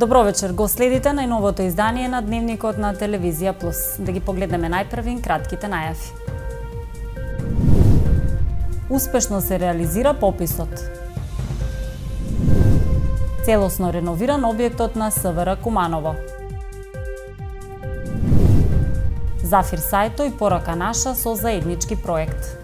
Добро вечер, го следите најновото издание на Дневникот на Телевизија Плюс. Да ги погледнеме најпрви кратките најави. Успешно се реализира пописот. Целосно реновиран објектот на СВР Куманово. Зафир Сајто и порака наша со заеднички проект.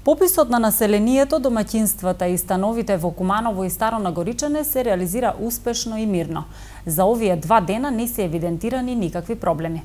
Пописот на населението, домаќинствата и становите во Куманово и Старо Нагоричане се реализира успешно и мирно. За овие 2 дена не се евидентирани никакви проблеми.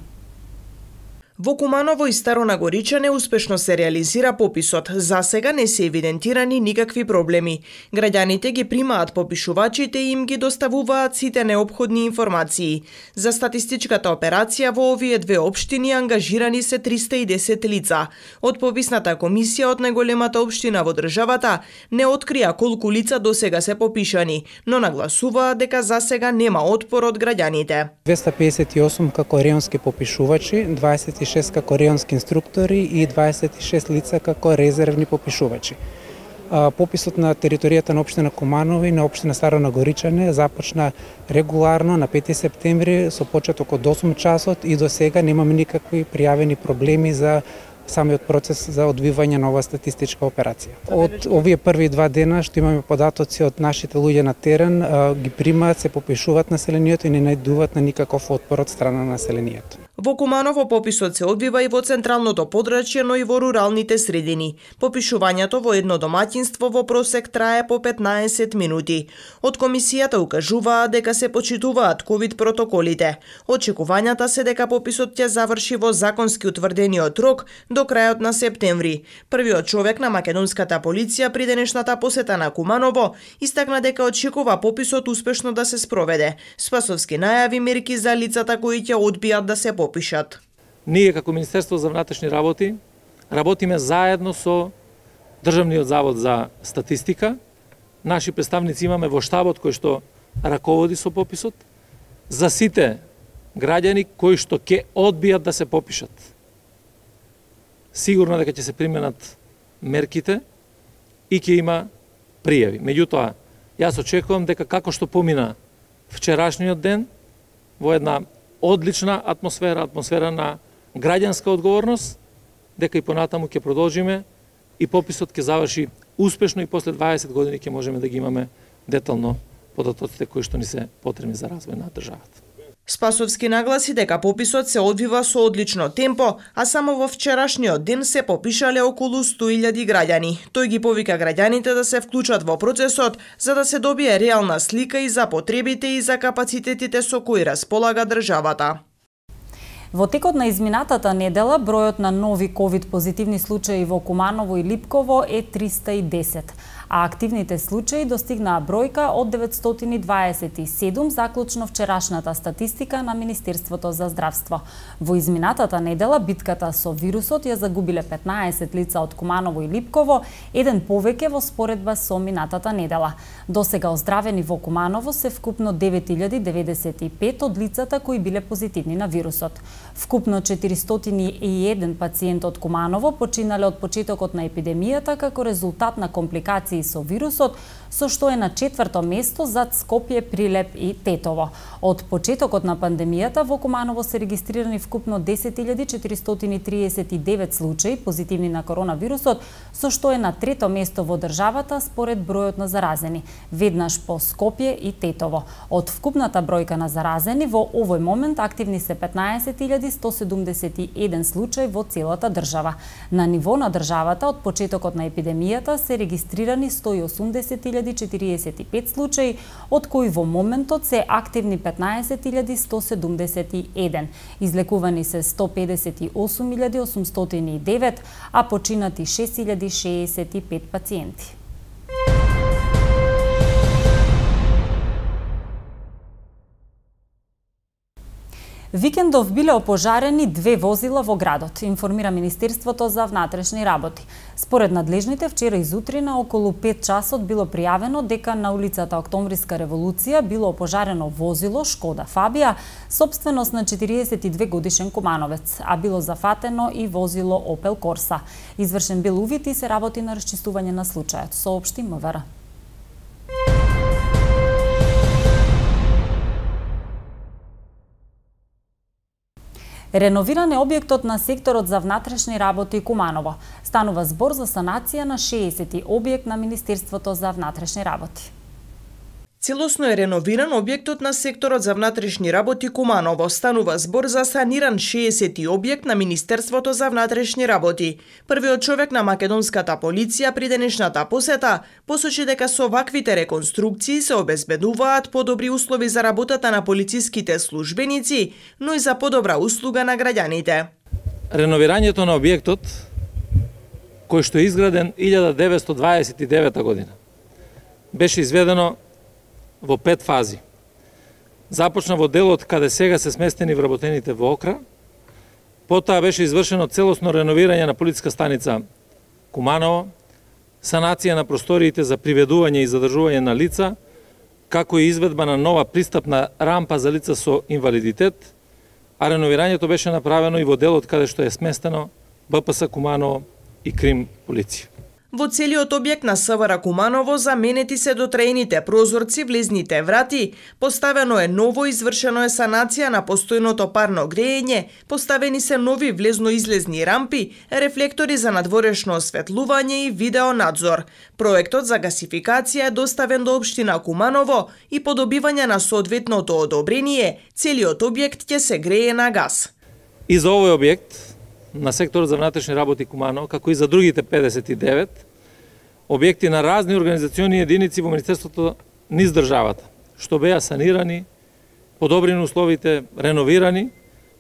Во Куманово и Старо Нагоричане успешно се реализира пописот. За сега не се евидентирани никакви проблеми. Граѓаните ги примаат попишувачите и им ги доставуваат сите неопходни информации. За статистичката операција во овие 2 општини ангажирани се 310 лица. Од пописната комисија од најголемата општина во државата не открија колку лица досега се попишани, но нагласуваат дека за сега нема отпор од граѓаните. 258 како реонски попишувачи, 26 како реонски инструктори и 26 лица како резервни попишувачи. Пописот на територијата на општина Куманово и на општина Старо Нагоричане започна регуларно на 5 септември со почеток од 8 часот и до сега немаме никакви пријавени проблеми за самиот процес за одвивање на ова статистичка операција. Од овие први 2 дена што имаме податоци од нашите луѓе на терен, ги примаат, се попишуваат населението и не најдуваат на никаков отпор од страна на населението. Во Куманово пописот се одвива и во централното подрачје, но и во руралните средини. Попишувањето во едно домаќинство во просек трае по 15 минути. Од комисијата укажуваат дека се почитуваат ковид протоколите. Очекувањата се дека пописот ќе заврши во законски утврдениот рок до крајот на септември. Првиот човек на македонската полиција при денешната посета на Куманово истакна дека очекува пописот успешно да се спроведе. Спасовски најави мерки за лицата кои ќе одбијат да се попишат. Ние како Министерство за внатрешни работи работиме заедно со Државниот завод за статистика. Наши представници имаме во штабот кој што раководи со пописот за сите граѓани кои што ќе одбијат да се попишат. Сигурно дека ќе се применат мерките и ќе има пријави. Меѓутоа, јас очекувам дека како што помина вчерашниот ден во една одлична атмосфера на граѓанска одговорност, дека и понатаму ќе продолжиме и пописот ќе заврши успешно и после 20 години ќе можеме да ги имаме детално податоците кои што ни се потребни за развој на државата. Спасовски нагласи дека пописот се одвива со одлично темпо, а само во вчерашниот ден се попишале околу 100.000 граѓани. Тој ги повика граѓаните да се вклучат во процесот за да се добие реална слика и за потребите и за капацитетите со кои располага државата. Во текот на изминатата недела бројот на нови ковид позитивни случаи во Куманово и Липково е 310, а активните случаи достигнаа бројка од 927 заклучно вчерашната статистика на Министерството за здравство. Во изминатата недела битката со вирусот ја загубиле 15 лица од Куманово и Липково, еден повеќе во споредба со минатата недела. Досега оздравени во Куманово се вкупно 9095 од лицата кои биле позитивни на вирусот. Вкупно 401 пациент од Куманово починале од почетокот на епидемијата како резултат на компликации со вирусот, со што е на 4-то место зад Скопје, Прилеп и Тетово. Од почетокот на пандемијата во Куманово се регистрирани вкупно 10.439 случаи позитивни на коронавирусот, со што е на 3-то место во државата според бројот на заразени, веднаш по Скопје и Тетово. Од вкупната бројка на заразени во овој момент активни се 15.171 случаи во целата држава. На ниво на државата од почетокот на епидемијата се регистрирани 180.045 случаи, од кои во моментот се активни 15.171. Излекувани се 158.809, а починати 6.065 пациенти. Викендов биле опожарени 2 возила во градот, информира Министерството за внатрешни работи. Според надлежните, вчера изутрина околу 5 часот било пријавено дека на улицата Октомвриска револуција било опожарено возило Шкода Фабија, сопственост на 42 годишен кумановец, а било зафатено и возило Опел Корса. Извршен бил увид и се работи на расчистување на случајот, соопшти МВР. Реновиран е објектот на секторот за внатрешни работи Куманово. Станува збор за санација на 60 објект на Министерството за внатрешни работи. Целосно е реновиран објектот на секторот за внатрешни работи Куманово. Станува збор за саниран 60 објект на Министерството за внатрешни работи. Првиот човек на македонската полиција при денешната посета посочи дека со ваквите реконструкции се обезбедуваат подобри услови за работата на полициските службеници, но и за подобра услуга на граѓаните. Реновирањето на објектот, кој што е изграден 1929 година, беше изведено во 5 фази. Започна во делот каде сега се сместени вработените во Окра, потоа беше извршено целосно реновирање на полициска станица Куманово, санација на просториите за приведување и задржување на лица, како и изведба на нова пристапна рампа за лица со инвалидитет, а реновирањето беше направено и во делот каде што е сместено БПС Куманово и Крим полиција. Во целиот објект на СВР Куманово заменети се дотреените прозорци, влезните врати, поставено е ново, извршено е санација на постојното парно грејење, поставени се нови влезно-излезни рампи, рефлектори за надворешно осветлување и видеонадзор. Проектот за гасификација е доставен до општина Куманово и по добивање на соодветното одобрение, целиот објект ќе се грее на газ. И за овој објект на секторот за внатрешни работи Куманово, како и за другите 59 објекти на разни организациони единици во Министерството низ државата, што беа санирани, подобрени условите, реновирани,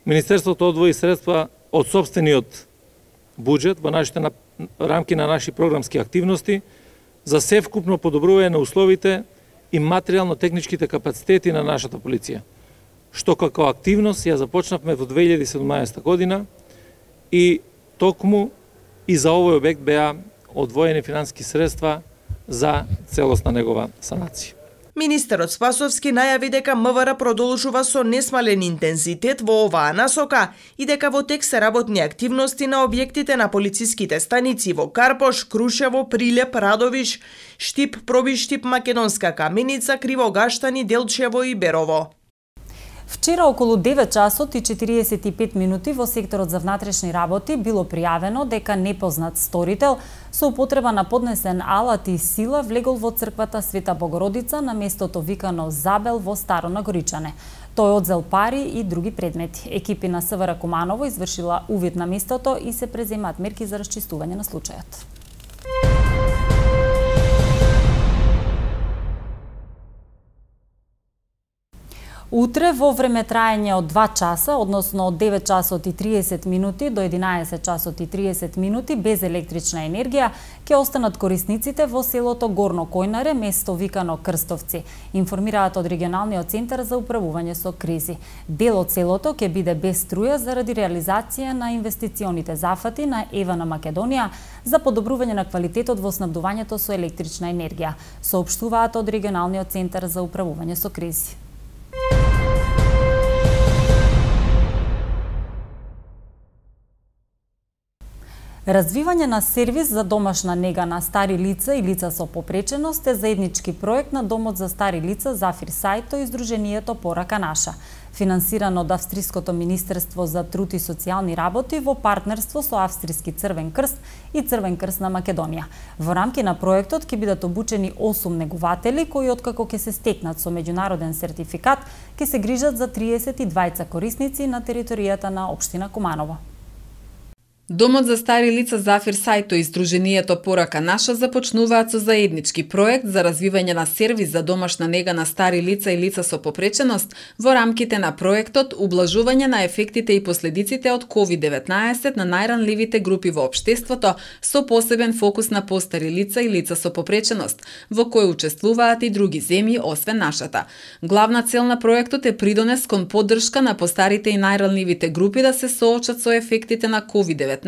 Министерството одвои средства од сопствениот буџет во нашите рамки на наши програмски активности за севкупно подобрување на условите и материјално-техничките капацитети на нашата полиција, што како активност ја започнавме во 2017 година, и токму и за овој објект беа одвоени финансиски средства за целосна негова санација. Министерот Спасовски најави дека МВР продолжува со несмален интензитет во оваа насока и дека во тек се работни активности на објектите на полициските станици во Карпош, Крушево, Прилеп, Радовиш, Штип, Пробиштип, Македонска Каменица, Кривогаштани, Делчево и Берово. Вчера околу 9 часот и 45 минути во секторот за внатрешни работи било пријавено дека непознат сторител со употреба на поднесен алат и сила влегол во црквата Света Богородица на местото викано Забел во Старо Нагоричане. Тој одзел пари и други предмети. Екипи на СВР Куманово извршила увид на местото и се преземаат мерки за расчистување на случајот. Утре во време траење од 2 часа, односно од 9 часот и 30 минути до 11 часот и 30 минути без електрична енергија, ќе останат корисниците во селото Горно Којнаре, место викано Крстовци, информираат од регионалниот центар за управување со кризи. Дел од селото ќе биде без струја заради реализација на инвестиционите зафати на ЕВН Македонија за подобрување на квалитетот во снабдувањето со електрична енергија, соопштуваат од регионалниот центар за управување со кризи. Развивање на сервис за домашна нега на стари лица и лица со попреченост е заеднички проект на Домот за стари лица Зафир Сајто и Сдруженијето Порака наша, финансиран од Австриското Министерство за труд и социјални работи во партнерство со Австриски Црвен крст и Црвен крст на Македонија. Во рамки на проектот ќе бидат обучени 8 негуватели кои откако ќе се стекнат со меѓународен сертификат ќе се грижат за 32 корисници на територијата на општина Куманово. Домот за стари лица Зафир Сајто и Сдруженијето Порака наша започнуваат со заеднички проект за развивање на сервис за домашна нега на стари лица и лица со попреченост во рамките на проектот Ублажување на ефектите и последиците од COVID-19 на најранливите групи во општеството со посебен фокус на постари лица и лица со попреченост, во кој учествуваат и други земји освен нашата. Главна цел на проектот е придонес кон поддршка на постарите и најранливите групи да се соочат со ефектите на COVID-19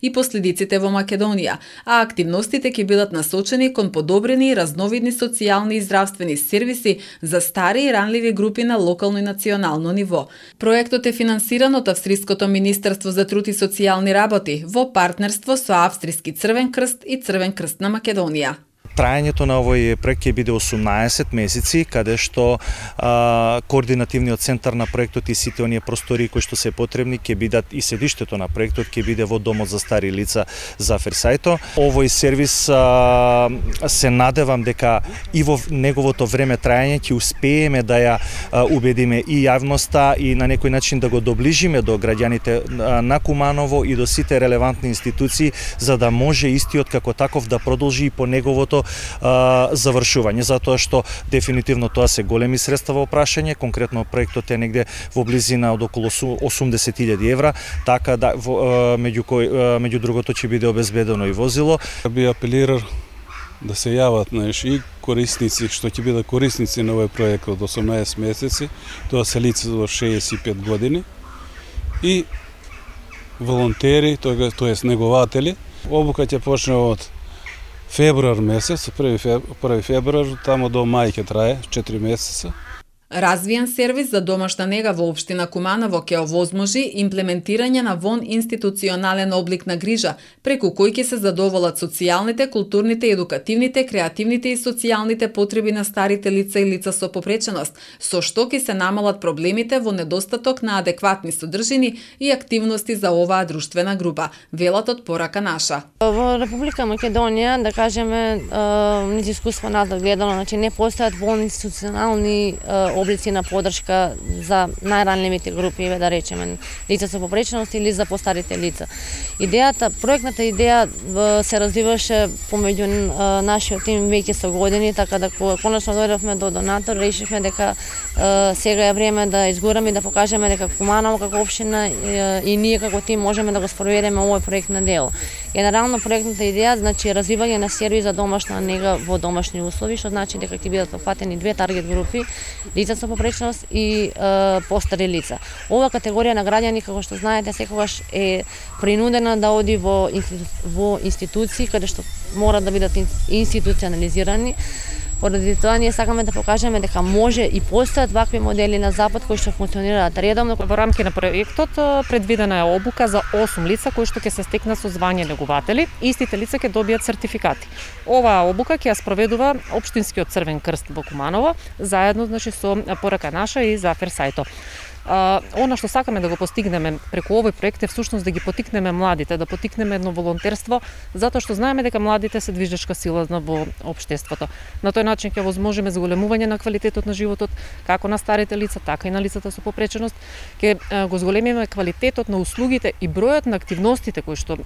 и последиците во Македонија, а активностите ќе бидат насочени кон подобрени и разновидни социјални и здравствени сервиси за стари и ранливи групи на локално и национално ниво. Проектот е финансиран од Австриското Министерство за труд и социјални работи во партнерство со Австриски Црвен крст и Црвен крст на Македонија. Трајањето на овој проект ќе биде 18 месеци, каде што координативниот центар на проектот и сите оние простори кои што се потребни ќе бидат и седиштето на проектот ќе биде во Домот за стари лица Зафир Сајто. Овој сервис се надевам дека и во неговото време трајање ќе успееме да ја убедиме и јавноста и на некој начин да го доближиме до граѓаните на Куманово и до сите релевантни институции за да може истиот како таков да продолжи и по неговото завршување, затоа што дефинитивно тоа се големи средства во прашање, конкретно проектот е негде во близина од околу 80.000 евра, така да меѓу другото ќе биде обезбедено и возило. Би апелирал да се јават и корисници што ќе бидат корисници на овој проект од 18 месеци, тоа се лица до 65 години и волонтери, тоест негователи. Обука ќе почне од февруар месец, 1 февруар, тамо до мај ќе трае 4 месеца. Развиен сервис за домашна нега во општина Куманово ќе овозможи имплементирање на институционален облик на грижа, преку кој ќе се задоволат социјалните, културните, едукативните, креативните и социјалните потреби на старите лица и лица со попреченост, со што ќе се намалат проблемите во недостаток на адекватни содржини и активности за оваа друштвена група, велат од Порака наша. Во Република Македонија, да кажеме, низ искуство назад гледано, значи не постојат институционални облици на поддршка за најранливите групи, да речеме, лица со попреченост или за постарите лица. Проектната идеја се развиваше помеѓу нашиот тим веќе со години, така да конечно дојдовме до донатор, решивме дека сега е време да изгураме и да покажеме дека Куманово како општина и ние како тим можеме да го спроведеме овој проект на дело. Генерално проектната идеја значи развивање на сервис за домашна нега во домашни услови, што значи дека ќе бидат опфатени две таргет групи, лица со попреченост и постари лица. Ова категорија на граѓани, како што знаете, секогаш е принудена да оди во институции каде што мора да бидат институционализирани. Поради тоа ние сакаме да покажеме дека може и постојат вакви модели на Запад кои што функционираат редовно. Во рамки на проектот предвидена е обука за 8 лица кои што ќе се стекнат со звање негователи. Истите лица ќе добијат сертификати. Оваа обука ќе ја спроведува Општинскиот Црвен крст во Куманово, заедно со Порака наша и Зафир Сајто. Она што сакаме да го постигнеме преку овој проект е всушност да ги потикнеме младите, да потикнеме едно волонтерство, затоа што знаеме дека младите се движечка сила во општеството. На тој начин ќе возможиме зголемување на квалитетот на животот, како на старите лица, така и на лицата со попреченост, ќе го зголемиме квалитетот на услугите и бројот на активностите кои што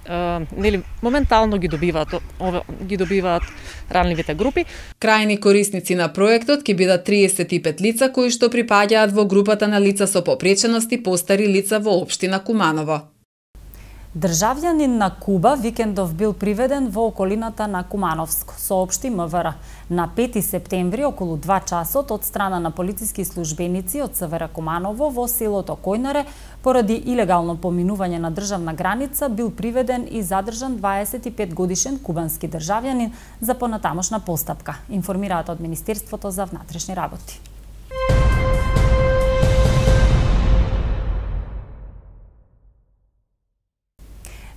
моментално ги добиваат ранливите групи. Крајни корисници на проектот ќе бидат 35 лица кои што припаѓаат во групата на лица со попреченост и постари лица во општина Куманово. Државјанин на Куба викендов бил приведен во околината на Кумановско, соопшти МВР. На 5 септември околу 2 часот од страна на полициски службеници од СВР Куманово во селото Којнаре поради илегално поминување на државна граница бил приведен и задржан 25 годишен кубански државјанин за понатамошна постапка, информираат од Министерството за внатрешни работи.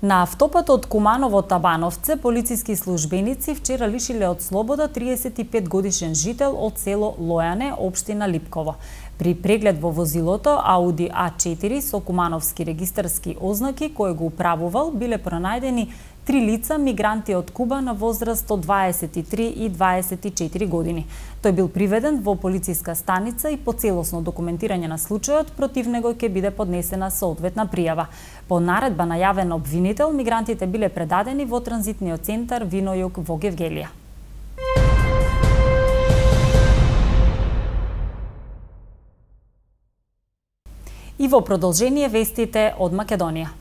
На автопатот Куманово-Табановце полициски службеници вчера лишиле од слобода 35 годишен жител од село Лојане, општина Липково. При преглед во возилото Ауди А4 со кумановски регистарски ознаки кој го управувал биле пронајдени 3 лица мигранти од Куба на возраст од 23 и 24 години. Тој бил приведен во полициска станица и по целосно документирање на случајот против него ќе биде поднесена соодветна пријава. По наредба најавен обвинител, мигрантите биле предадени во транзитниот центар Винојук во Гевгелија. И во продолжение вестите од Македонија.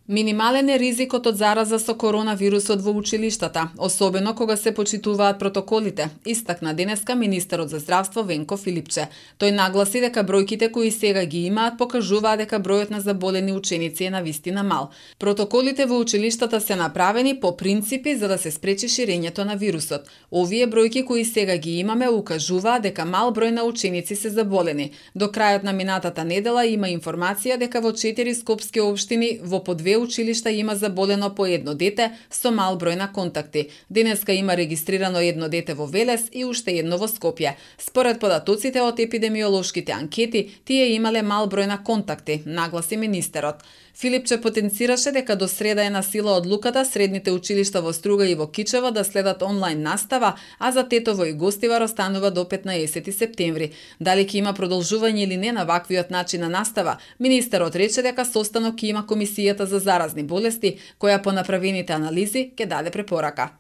Минимален е ризикот од зараза со коронавирусот во училиштата, особено кога се почитуваат протоколите, истакна денеска министерот за здравство Венко Филипче. Тој нагласи дека бројките кои сега ги имаат покажуваат дека бројот на заболени ученици е навистина мал. Протоколите во училиштата се направени по принципи за да се спречи ширењето на вирусот. Овие бројки кои сега ги имаме укажуваат дека мал број на ученици се заболени. До крајот на минатата недела има информација дека во 4 скопски општини во по 2 училишта има заболено по едно дете со мал број на контакти. Денеска има регистрирано едно дете во Велес и уште едно во Скопје. Според податоците од епидемиолошките анкети, тие имале мал број на контакти, нагласи министерот. Филипче потенцираше дека до среда е на сила одлуката средните училишта во Струга и во Кичево да следат онлайн настава, а за Тетово и Гостивар останува до 15 септември. Дали ќе има продолжување или не на ваквиот начин на настава, министерот рече дека состанок ќе има комисијата за заразни болести, која по направените анализи ќе даде препорака.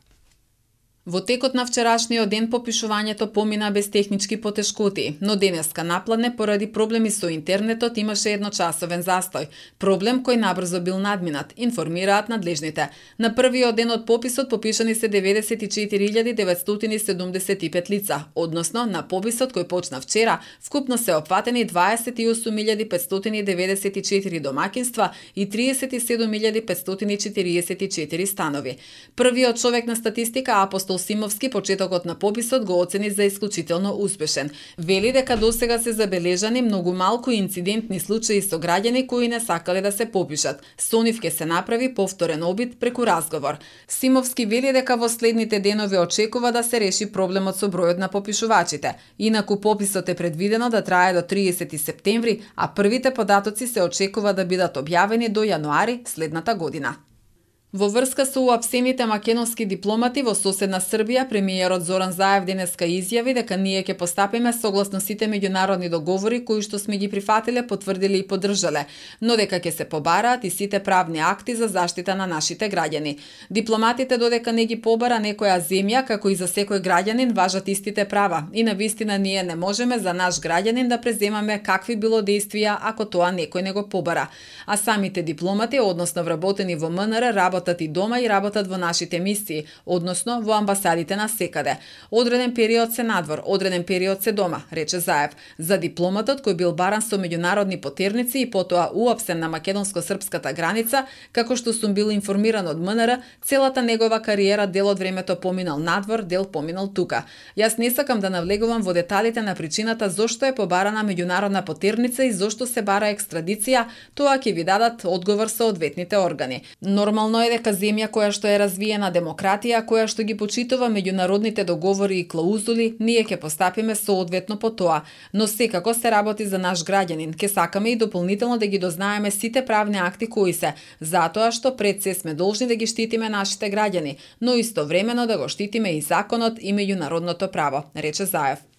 Во текот на вчерашниот ден попишувањето помина без технички потешкоти, но денеска напладне поради проблеми со интернетот имаше едночасовен застој. Проблем кој набрзо бил надминат, информираат надлежните. На првиот ден од пописот попишани се 94.975 лица, односно на пописот кој почна вчера, вкупно се опфатени 28.594 домаќинства и 37.544 станови. Првиот човек на статистика Апостол Симовски почетокот на пописот го оцени за исклучително успешен. Вели дека досега се забележани многу малку инцидентни случаи со граѓани кои не сакале да се попишат. Со нив ќе се направи повторен обид преку разговор. Симовски вели дека во следните денови очекува да се реши проблемот со бројот на попишувачите. Инаку пописот е предвидено да трае до 30 септември, а првите податоци се очекува да бидат објавени до јануари следната година. Во врска со уапсените македонски дипломати во соседна Србија, премиерот Зоран Заев денеска изјави дека ние ќе постапиме согласно сите меѓународни договори кои што сме ги прифатиле, потврдиле и поддржале, но дека ќе се побараат и сите правни акти за заштита на нашите граѓани. Дипломатите додека не ги побара некоја земја, како и за секој граѓанин важат истите права и навистина ние не можеме за наш граѓанин да преземаме какви било действија ако тоа некој не го побара. А самите дипломати, односно вработени во МНР, работат и дома и работат во нашите мисии, односно во амбасадите на секаде. Одреден период се надвор, одреден период се дома, рече Заев. За дипломатот кој бил баран со меѓународни потерници и потоа уапсен на македонско-српската граница, како што сум бил информиран од МНР, целата негова кариера дел од времето поминал надвор, дел поминал тука. Јас не сакам да навлегувам во деталите на причината зошто е побарана меѓународна потерница и зошто се бара екстрадиција, тоа ќе ви дадат одговор со одветните органи. Нормално е дека земја која што е развиена демократија, која што ги почитува меѓународните договори и клаузули, ние ќе постапиме соодветно по тоа. Но секако се работи за наш граѓанин. Ке сакаме и дополнително да ги дознаеме сите правни акти кои се, затоа што пред се сме должни да ги штитиме нашите граѓани, но истовремено да го штитиме и законот и меѓународното право, рече Заев.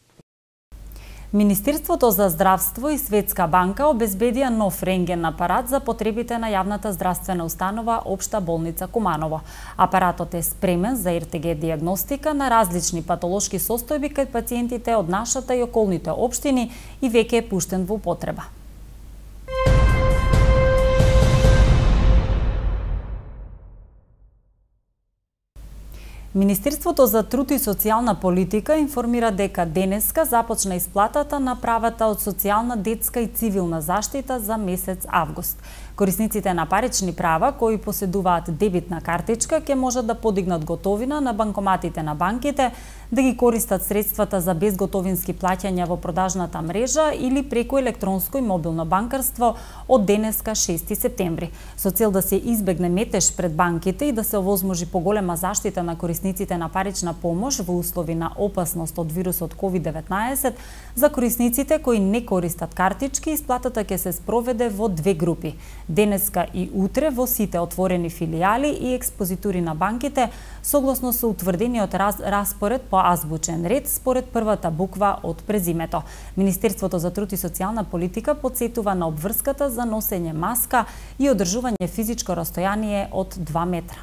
Министерството за здравство и Светска банка обезбедија нов рентген апарат за потребите на јавната здравствена установа Општа болница Куманово. Апаратот е спремен за РТГ диагностика на различни патолошки состојби кај пациентите од нашата и околните општини и веќе е пуштен во употреба. Министерството за труд и социјална политика информира дека денеска започна исплатата на правата од социјална, детска и цивилна заштита за месец август. Корисниците на парични права кои поседуваат дебитна картичка ќе можат да подигнат готовина на банкоматите на банките, да ги користат средствата за безготовински плаќања во продажната мрежа или преку електронско и мобилно банкарство од денеска 6 септември. Со цел да се избегне метеж пред банките и да се овозможи поголема заштита на корисниците на парична помош во услови на опасност од вирусот COVID-19, за корисниците кои не користат картички, исплатата ќе се спроведе во две групи. Денеска и утре во сите отворени филијали и експозитури на банките, согласно со утврдениот распоред по азбучен ред според првата буква од презимето. Министерството за труд и социјална политика потсетува на обврската за носење маска и одржување физичко растојание од 2 метра.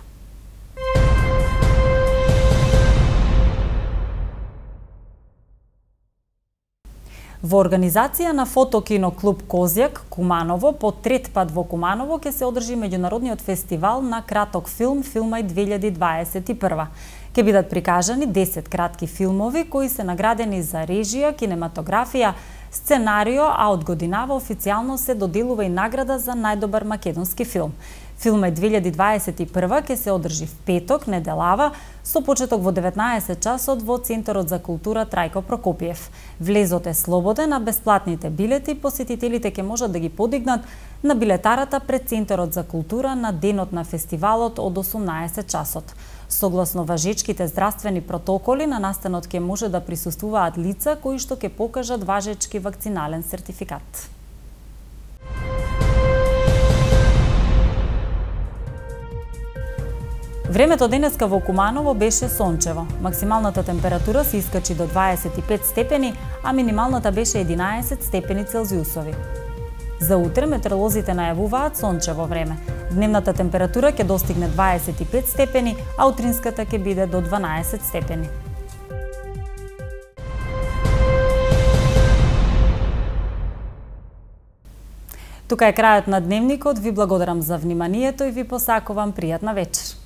Во организација на фотокино клуб Козјак, Куманово, по трет пат во Куманово ќе се одржи меѓународниот фестивал на краток филм Филмај 2021. Ќе бидат прикажани 10 кратки филмови кои се наградени за режија, кинематографија, сценарио, а од годинава официјално се доделува и награда за најдобар македонски филм. Филмај 2021 ќе се одржи в петок, неделава, со почеток во 19 часот во Центарот за култура Трајко Прокопиев. Влезот е слободен, а бесплатните билети посетителите ќе можат да ги подигнат на билетарата пред Центарот за култура на денот на фестивалот од 18 часот. Согласно важечките здравствени протоколи, на настанот ќе може да присуствуваат лица кои што ќе покажат важечки вакцинален сертификат. Времето денеска во Куманово беше сончево. Максималната температура се искачи до 25 степени, а минималната беше 11 степени Целзиусови. За утре метеоролозите најавуваат сончево време. Дневната температура ќе достигне 25 степени, а утринската ќе биде до 12 степени. Тука е крајот на дневникот. Ви благодарам за вниманието и ви посакувам пријатна вечер.